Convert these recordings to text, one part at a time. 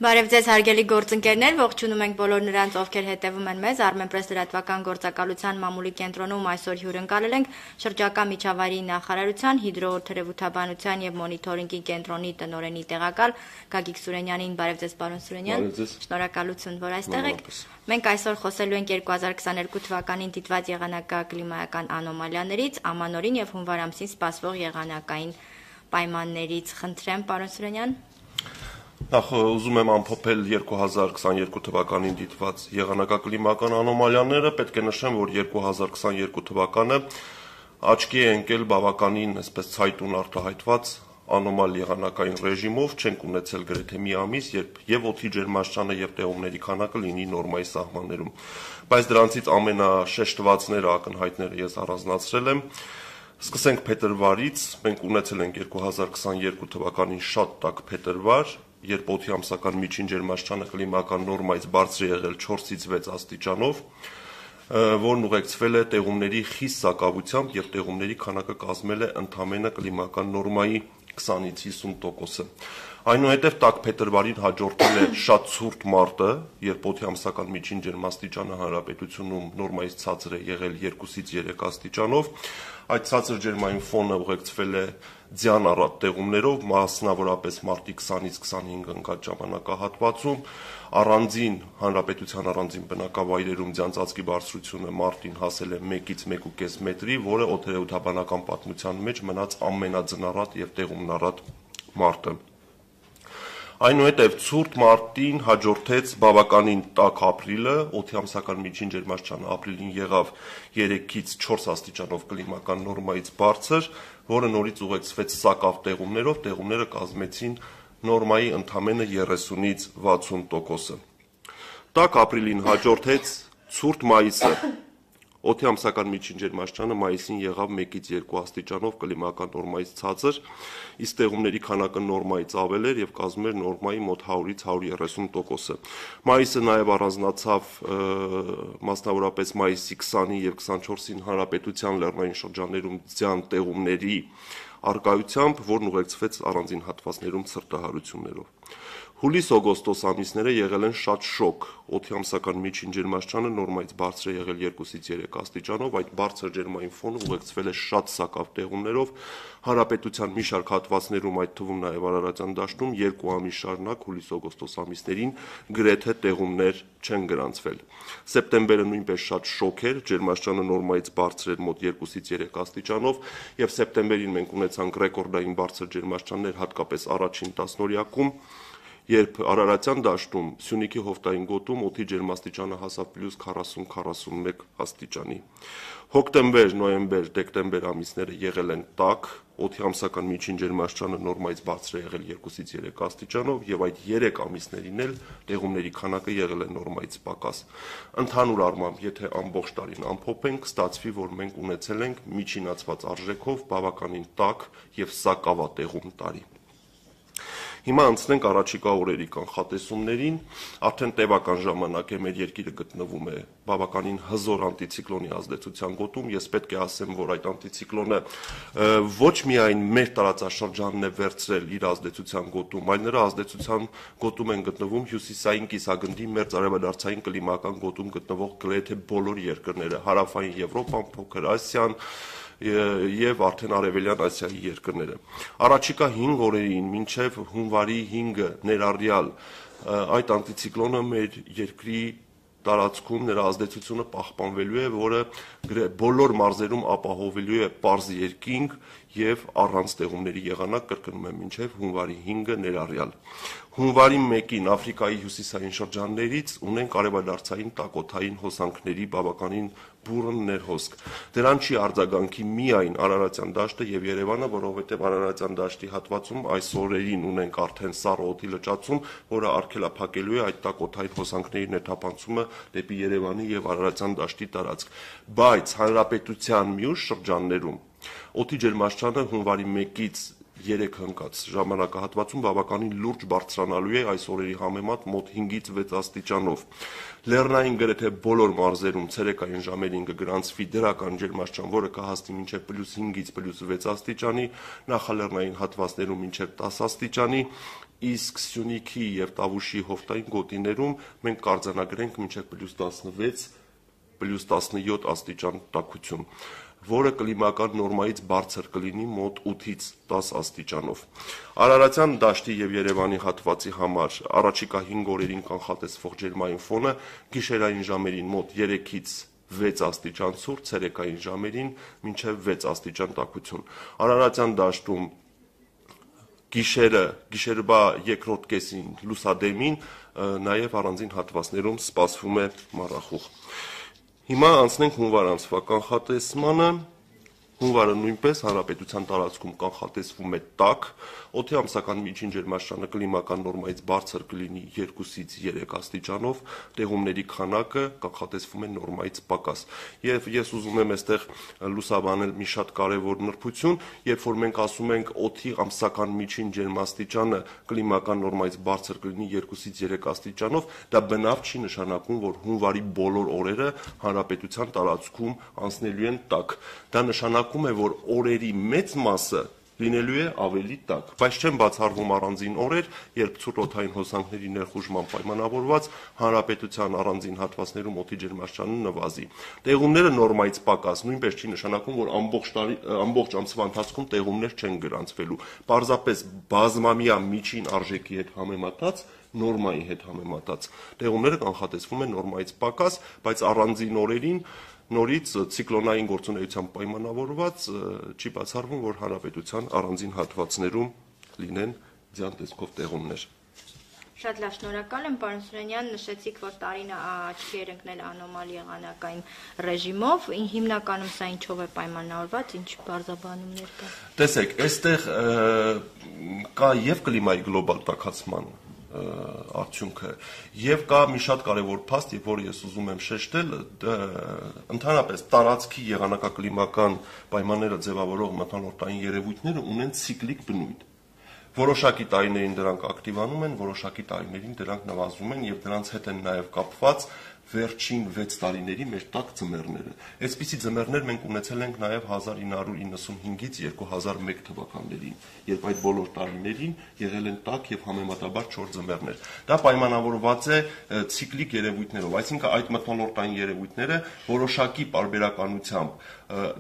Բարև ձեզ հարգելի գործընկերներ, ողջունում ենք բոլոր նրանց, ովքեր հետևում են մեզ Armenpress լրատվական գործակալության մամուլի կենտրոնում այսօր հյուրընկալել ենք շրջակա միջավայրի նախարարության հիդրոթերապևտաբանության եւ մոնիթորինգի կենտրոնի տնօրենի տեղակալ Գագիկ Սուրենյանին։ Բարև ձեզ, պարոն Սուրենյան։ Շնորհակալություն, որ այստեղ եք։ Մենք այսօր խոսելու ենք 2022 թվականին դիտված եղանակակլիմայական անոմալիաներից, ամանորին եւ հունվար ամսին սպասվող եղանակային պայմաններից։ Խնդրեմ, պարոն Սուրենյան։ Նախ ուզում եմ ամփոփել 2022 թվականին դիտված եղանակակլիմական անոմալիաները, պետք է նշեմ, որ 2022 թվականը աչքի է ընկել բավականին այսպես ցայտուն արտահայտված անոմալ եղանակային ռեժիմով, չենք ունեցել գրեթե մի ամիս, երբ եւ օդի ջերմաստիճանը եւ տեղումների քանակը լինի նորմայի սահմաններում, բայց դրանցից ամենաշեշտվածները, ակնհայտները ես առանձնացրել եմ։ Սկսենք փետրվարից, մենք ունեցել ենք 2022 թվականին շատ տաք փետրվար, երբ օդի ամսական միջին ջերմաստիճանը կլիմական նորմայից բարձր է եղել 4-ից 6 աստիճանով, որն ուղեկցվել է տեղումների խիստ սակավությամբ եւ տեղումների քանակը կազմել է ընդամենը կլիմական նորմայի 20-ից 50%-ը։ Այնուհետև տաք փետրվարին հաջորդել է շատ ցուրտ մարտը, երբ օդի ամսական միջին ջերմաստիճանը հանրապետությունում նորմայից ցածր է եղել 2-ից 3 աստիճանով։ Այդ ցածր ջերմային ֆոնը ուղեկցվել է ձյան առատ տեղումներով, մասնավորապես մարտի 20-ից 25 ընկած ժամանակահատվածում, հանրապետության առանձին բնակավայրերում ձյան ծածկի բարձրությունը մարտին հասել է 1-ից 1.5 մետրի, որը օդերեւութաբանական պատմության մեջ մնաց ամենաձնառատ եւ տեղումնառատ մարտը։ Այնուհետև ցուրտ մարտին հաջորդեց բավականին տաք ապրիլը, օդի ամսական միջին ջերմաստիճանը ապրիլին եղավ 3-ից 4 աստիճանով կլիմական նորմայից բարձր, որը նորից ուղեկցվեց սակավ տեղումներով, տեղումները կազմեցին նորմայի ընդամենը 30-ից 60%-ը։ Տաք ապրիլին հաջորդեց ցուրտ մայիսը, օդի ամսական միջին ջերմաստիճանը մայիսին եղավ 1-ից 2 աստիճանով կլիմական նորմայից ցածր, իսկ տեղումների քանակը նորմայից ավել էր եւ կազմում էր նորմայի մոտ 100-ից 130%-ը։ Մայիսը նաեւ առանձնացավ մասնավորապես մայիսի 20-ի եւ 24-ին հանրապետության լեռնային շրջաններում ձյան տեղումների արկայությամբ, որն ուղեկցվեց առանձին հատվածներում ցրտահարություններով։ Հուլիս-օգոստոս ամիսները եղել են շատ շոկ, օդի ամսական միջին ջերմաստիճանը նորմայից բարձր է եղել 2-ից 3 աստիճանով, այդ բարձր ջերմային ֆոնը ուղեկցվել է շատ սակավ տեղումներով, հանրապետության մի շարք հատվածներում, այդ թվում նաև Արարատյան դաշտում 2 ամիս շարունակ հուլիս-օգոստոս ամիսներին գրեթե տեղումներ չեն գրանցվել։ Սեպտեմբերը նույնպես շատ շոկ էր, ջերմաստիճանը նորմայից բարձր էր մոտ 2-ից 3 աստիճանով, եւ սեպտեմբերին մենք ունեցանք ռեկորդային բարձր ջերմաստիճաններ, հատկապես առաջին տասնօրյակում, երբ Արարատյան դաշտում Սյունիքի հովտային գոտում օդի ջերմաստիճանը հասավ պլյուս 40-41 աստիճանի։ Հոկտեմբեր, նոյեմբեր, դեկտեմբեր ամիսները եղել են տաք, օդի ամսական միջին ջերմաստիճանը նորմայից բարձր է եղել 2-ից 3 աստիճանով եւ այդ 3 ամիսներին էլ տեղումների քանակը եղել է նորմայից պակաս։ Ընդհանուր առմամբ, եթե ամբողջ տարին ամփոփենք, ստացվի, որ մենք ունեցել ենք միջինացված արժեքով բավականին տաք եւ սակավատեղում տարի։ Հիմա անցնենք առաջիկա օրերի կանխատեսումներին, արդեն տևական ժամանակ է մեր երկիրը գտնվում է բավականին հզոր անտիցիկլոնի ազդեցության գոտում, ես պետք է ասեմ, որ այդ անտիցիկլոնը ոչ միայն մեր տարածաշրջանն է վերցրել իր ազդեցության գոտում, այլ նրա ազդեցության գոտում են գտնվում հյուսիսային կիսագնդի մերձարևադարձային կլիմական գոտում գտնվող գրեթե բոլոր երկրները, հարավային Եվրոպան, Փոքր Ասիան եւ արդեն Արևելյան Ասիայի երկրները։ Առաջիկա 5 օրերին մինչեւ հունվարի 5-ը ներառյալ այդ անտիցիկլոնը մեր երկրի տարածքում նրա ազդեցությունը պահպանվելու է, որը բոլոր մարզերում ապահովելու է պարզ երկինք եւ առանց տեղումների եղանակ, կրկնում եմ, մինչեւ հունվարի 5-ը ներառյալ։ Հունվարի 1-ին Աֆրիկայի հյուսիսային շրջաններից ունենք արևադարձային տակոթային հոսանքների բավականին բուռն ներհոսք։ Դրան չի արձագանքի միայն Արարատյան դաշտը եւ Երևանը, որովհետեւ Արարատյան դաշտի հատվածում այս օրերին ունենք արդեն սառը օդի լճացում, որը արգելափակելու է այդ տակոթային հոսանքների ներթափանցումը դեպի Երևանի եւ Արարատյան դաշտի տարածք։ Բայց հանրապետության մյուս շրջաններում օդի ջերմաստիճանը հունվարի 1-ից 3 հնկած ժամանակահատվածում բավականին լուրջ բարձրանալու է այս օրերի համեմատ մոտ 5-ից 6 աստիճանով։ Լեռնային գրեթե բոլոր մարզերում ցերեկային ժամերին կգրանցվի դրական ջերմաստիճան, որը կհասնի մինչև +5-ից +6 աստիճանի, նախալեռնային հատվածներում մինչև 10 աստիճանի, իսկ Սյունիքի եւ Տավուշի հովտային գոտիներում մենք կարձանագրենք մինչեւ +16, +17 աստիճան տաքություն, որը կլիմական նորմայից բարձր կլինի մոտ 8-ից 10 աստիճանով։ Արարատյան դաշտի եւ Երևանի հատվածի համար առաջիկա 5 օրերին կանխատեսվող ջերմային ֆոնը գիշերային ժամերին մոտ 3-ից 6 աստիճան ցուրտ, ցերեկային ժամերին մինչև 6 աստիճան տաքություն։ Արարատյան դաշտում գիշերվա երկրորդ կեսին լուսադեմին նաև առանձին հատվածներում սպասվում է մառախուղ։ Հիմա անցնենք հունվար ամսվա կանխատեսմանը։ Հունվարը նույնպես հանրապետության տարածքում կանխատեսվում է տաք, օդի ամսական միջին ջերմաստիճանը կլիմական նորմայից բարձր կլինի 2-ից 3 աստիճանով, տեղումների քանակը կանխատեսվում է նորմայից պակաս։ Եվ ես ուզում եմ այստեղ լուսաբանել մի շատ կարևոր նրբություն, երբ որ մենք ասում ենք օդի ամսական միջին ջերմաստիճանը կլիմական նորմայից բարձր կլինի 2-ից 3 աստիճանով, դա բնավ չի նշանակում, որ հունվարի բոլոր օրերը հանրապետության տարածքում անցնելու են տաք։ Դա նշանակում է, որ օրերի մեծ մասը լինելու է ավելի տաք, բայց չեն բացառվում առանձին օրեր, երբ ցուրտ օդային հոսանքների ներխուժման պայմանավորված հանրապետության առանձին հատվածներում օդի ջերմաստիճանը նվազի։ Տեղումները նորմայից պակաս նույնպես չի նշանակում, որ ամբողջ ամսվա ընթացքում տեղումներ չեն գրանցվելու։ Պարզապես բազմամյա միջին արժեքի հետ համեմատած նորմայի հետ համեմատած տեղումները կանխատեսվում են նորմայից պակաս, բայց առանձին օրերին նորից ցիկլոնային գործունեությամբ պայմանավորված չի բացառվում, որ հանրապետության առանձին հատվածներում լինեն ձյան տեսքով տեղումներ։ Շատ լավ, շնորհակալ եմ, պարոն Սուրենյան, նշեցիք, որ տարինը աչքի էր ընկնել անոմալի եղանակային ռեժիմով, հիմնականում սա ինչով է պայմանավորված, ինչ բարձաբանումներ կա։ Տեսեք, այստեղ կա եւ կլիմայի գլոբալ տաքացման արդյունքը եւ կա մի շատ կարեւոր փաստ, որ ես ուզում եմ շեշտել, ընդհանրապես տարածքի եղանակակլիմական պայմանները ձևավորող մթնոլորտային երևույթները ունեն ցիկլիկ բնույթ։ Որոշակի տարիներին դրանք ակտիվանում են, որոշակի տարիներին դրանք նվազում են եւ դրանց հետ են նաեւ կապված վերջին 6 տարիների մեր տաք ձմեռները։ Այսպիսի ձմեռներ մենք ունեցել ենք նաև 1995-ից 2001 թվականներին, երբ այդ բոլոր տարիներին եղել են տաք եւ համեմատաբար 4 ձմեռներ։ Դա պայմանավորված է ցիկլիկ երևույթներով, այսինքն այդ մթնոլորտային երևույթները որոշակի պարբերականությամբ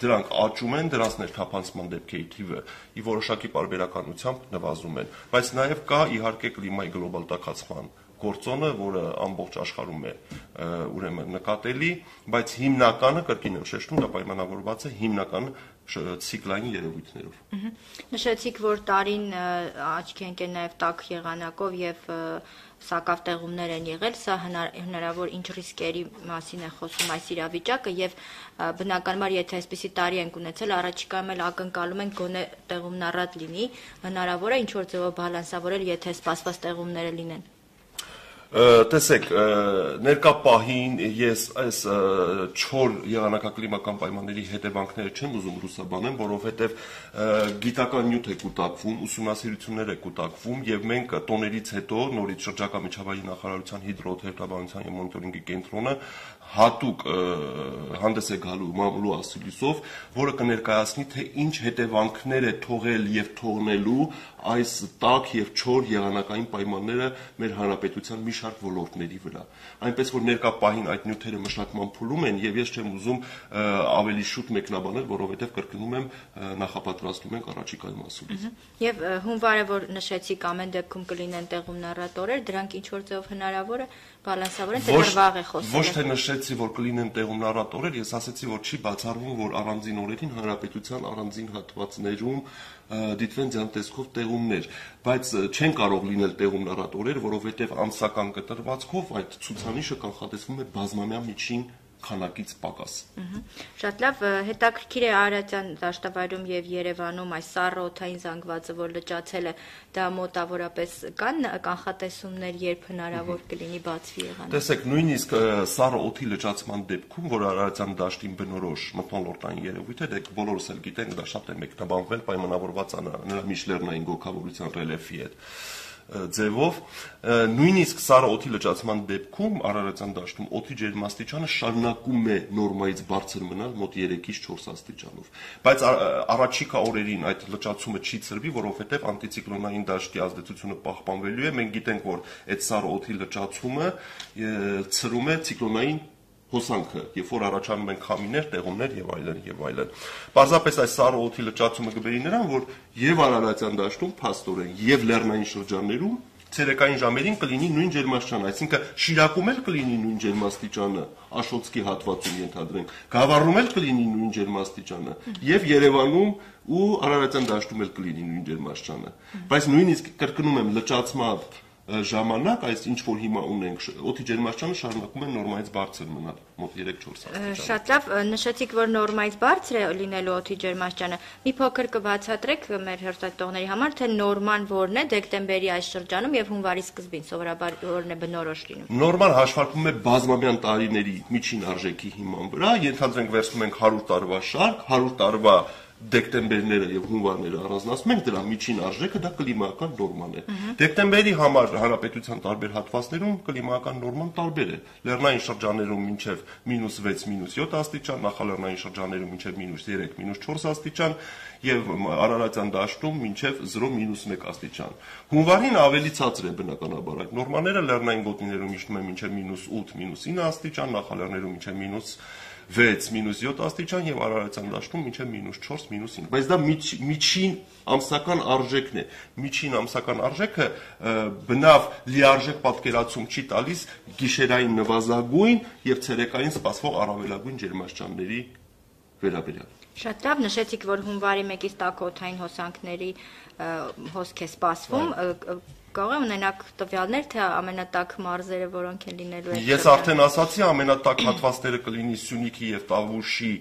դրանք աճում են, դրանց ներթափանցման դեպքերի թիվը ի որոշակի պարբերականությամբ նվազում են, բայց նաև կա իհարկե կլիմայի գլոբալ տաքացման գործոնը, որը ամբողջ աշխարհում է ուրեմն նկատելի, բայց հիմնականը, կրկին եմ շեշտում, դա պայմանավորված է հիմնական ցիկլային երևույթներով։ Նշեցիք, որ տարին աչքի ընկել նաև տաք եղանակով եւ սակավ տեղումներ են եղել, սա հնարավոր ինչ ռիսկերի մասին է խոսում այս իրավիճակը եւ բնականաբար եթե այսպիսի տարի ենք ունեցել, առաջիկայում էլ ակնկալում ենք գոնե տեղումնառատ լինի, հնարավոր է ինչ որ ձևով բալանսավորել, եթե սպասված տեղումները լինեն։ Տեսեք, ներկա պահին ես այս չոր եղանակակլիմական պայմանների հետևանքները չեմ ուզում լուսաբանեմ, որովհետև գիտական նյութ է կուտակվում, ուսումնասիրություններ է կուտակվում եւ մենք տոներից հետո նորից շրջակա միջավայրի նախարարության հիդրոթերապևտաբանության եւ մոնիտորինգի կենտրոնը հատուկ հանդես է գալու մամուլու ասուլիսով, որը կներկայացնի, թե ինչ հետևանքներ է թողել եւ թողնելու այս տաք եւ չոր եղանակային պայմանները մեր հանրապետության մի շարք ոլորտների վրա։ Այնպես որ ներկա պահին այդ նյութերը մշակման փուլում են եւ ես չեմ ուզում ավելի շուտ մեկնաբանել, որովհետեւ կրկնում եմ նախապատրաստում ենք առաջիկայում ասուլիս։ Եվ հունվարը, որ նշեցիք, ամեն դեպքում կլինեն տեղումնառատ օրեր, դրանք ինչ որ ձեով հնարավոր է բալանսավորեն, թե դեռ է խոսել։ Ոչ թե նշեցի, որ կլինեն տեղումնառատ օրեր, ես ասացի, որ չի բացառվում, որ առանձին օրերին հանրապետության առանձին հատվածներում դիտվեն ձյան տեսքով տեղումներ, բայց չեն կարող լինել տեղումնառատ օրեր, որովհետև ամսական կտրվածքով այդ ցուցանիշը կանխատեսվում է բազմամյա միջին քանակից պակաս։ Շատ լավ, հետաքրքիր է Արարատյան դաշտավայրում եւ Երևանում այս սառը օդային զանգվածը, որ լճացել է, դա մոտավորապես կան կանխատեսումներ, երբ հնարավոր կլինի բացվի եղանակ։ Տեսեք, նույնիսկ սառը օդի լճացման դեպքում, որ Արարատյան դաշտին բնորոշ մթնոլորտային երևույթ է, դե բոլորս էլ գիտենք, դա շատ է մեկնաբանվել պայմանավորված նրա միջլեռնային գոգավորության ռելիեֆի հետ։ ձևով, նույնիսկ սառը օդի լճացման դեպքում Արարատյան դաշտում օդի ջերմաստիճանը շարունակում է նորմայից բարձր մնալ մոտ 3-ից 4 աստիճանով։ Բայց առաջիկա օրերին այդ լճացումը չի ցրվի, որովհետև անտիցիկլոնային դաշտի ազդեցությունը պահպանվելու է։ Մենք գիտենք, որ այդ սառը օդի լճացումը ցրում է ցիկլոնային հոսանքը, երբ որ առաջանում են քամիներ, տեղումներ եւ այլն եւ այլն։ Պարզապես այս սառը օդի լճացումը կբերի նրան, որ եւ Արարատյան դաշտում փաստորեն եւ լեռնային շրջաններում ցերեկային ժամերին կլինի նույն ջերմաստիճանը, այսինքն Շիրակում էլ կլինի նույն ջերմաստիճանը, Աշոտսկի հատվածում ենթադրենք, Գավառում էլ կլինի նույն ջերմաստիճանը եւ Երևանում ու Արարատյան դաշտում էլ կլինի նույն ջերմաստիճանը։ Բայց նույնիսկ կրկնում եմ լճացման ժամանակ այս ինչ որ հիմա ունենք օդի ջերմաստիճանը շարունակում է նորմայից բարձր մնալ մոտ 3-4 աստիճան։ Շատ լավ, նշեցիք, որ նորմայից բարձր է լինելու օդի ջերմաստիճանը։ Մի փոքր կբացատրեք մեր հերթատողների համար, թե նորման որն է դեկտեմբերի այս շրջանում եւ հունվարի սկզբին սովորաբար որն է բնորոշ լինում։ Նորման հաշվարկվում է բազմամյան տարիների միջին արժեքի հիման վրա, ենթադրենք վերցնում ենք 100 տարվա շարք, 100 տարվա դեկտեմբերները եւ հունվարները առանձնացնում ենք, դրա միջին արժեքը դա կլիմայական նորման է։ Դեկտեմբերի համար հանրապետության տարբեր հատվածներում կլիմայական նորման տարբեր է։ Լեռնային շրջաններում մինչև -6, -7 աստիճան, նախալեռնային շրջաններում մինչև -3, -4 աստիճան եւ Արարատյան դաշտում մինչև 0, -1 աստիճան։ Հունվարին ավելի ցածր է բնականաբար այդ նորմաները, լեռնային գոտիներում իջնում է մինչև -8, -9 աստիճան, նախալեռներում մինչև -6, -7 աստիճան եւ Արարատյան դաշտում մինչև -4, -5։ Բայց դա միջին ամսական արժեքն է։ Միջին ամսական արժեքը բնավ լիարժեք պատկերացում չի տալիս գիշերային նվազագույն եւ ցերեկային սպասվող առավելագույն ջերմաստիճանների վերաբերյալ։ Շատ լավ, նշեցիք, որ հունվարի 1-ից տաքօդային հոսանքների հոսք է սպասվում։ Կարող եմ ունենալ տվյալներ, թե ամենատաք մարզերը որոնք են լինելու։ Ես արդեն ասացի, ամենատաք հատվածները կլինի Սյունիքի եւ Տավուշի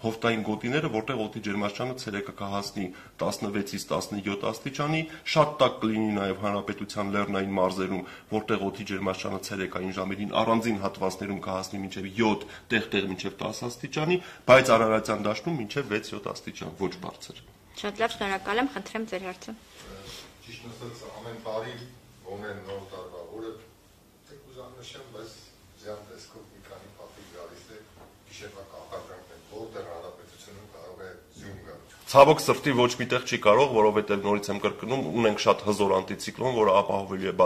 հովտային գոտիները, որտեղ օդի ջերմաստիճանը ցերեկը կհասնի 16-ից 17 աստիճանի, շատ տաք կլինի նաեւ հանրապետության լեռնային մարզերում, որտեղ օդի ջերմաստիճանը ցերեկային ժամերին առանձին հատվածներում կհասնի մինչև 7, տեղ-տեղ մինչև 10 աստիճանի, բայց Արարատյան դաշտում մինչև 6-7 աստիճան, ոչ բարձր։ Շատ լավ, շնորհակալ եմ, խնդրեմ ձեր հարցը։ Ճիշտ ասած, ամեն տարի ոնեն նոր տարվա օրը կուզանշեմ, բայց ձյան տեսքով մի քանի պատիկ գալիս է գիշերվա կախարդանքն, որտեղ հանրապետությունում կարող է ձյուն գալ։ Ցավոք սրտի ոչ միտեղ չի կարող, որովհետև նորից եմ կրկնում, ունենք շատ հզոր անտիցիկլոն, որը ապահովելու է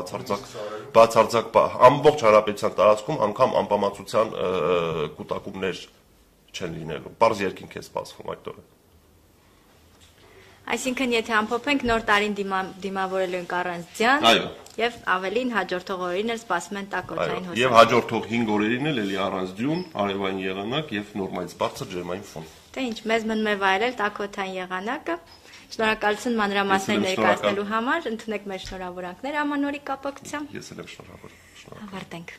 բացարձակ ամբողջ հանրապետության տարածքում անգամ անպամացության կուտակումներ չեն լինելու։ Պարզ երկինք է սպասվում այդ օրը։ Այսինքն, եթե ամփոփենք, նոր տարին դիմավորելու ենք առանց ձյան, եւ ավելին հաջորդող օրերին էլ սպասում են տաքօդային հոսանք։ Եվ հաջորդող 5 օրերին էլ էլի առանց ձյուն, արևային եղանակ եւ նորմալից բարձր ջերմային ֆոն։ Դե ինչ, մեզ մնում է վայելել տաքօդային եղանակը։ Շնորհակալություն մանրամասներ ներկայացնելու համար, ընդունեք մեր շնորհավորանքները ամանորի կապակցությամբ։ Ես էլ եմ շնորհավոր։ Ավարտենք։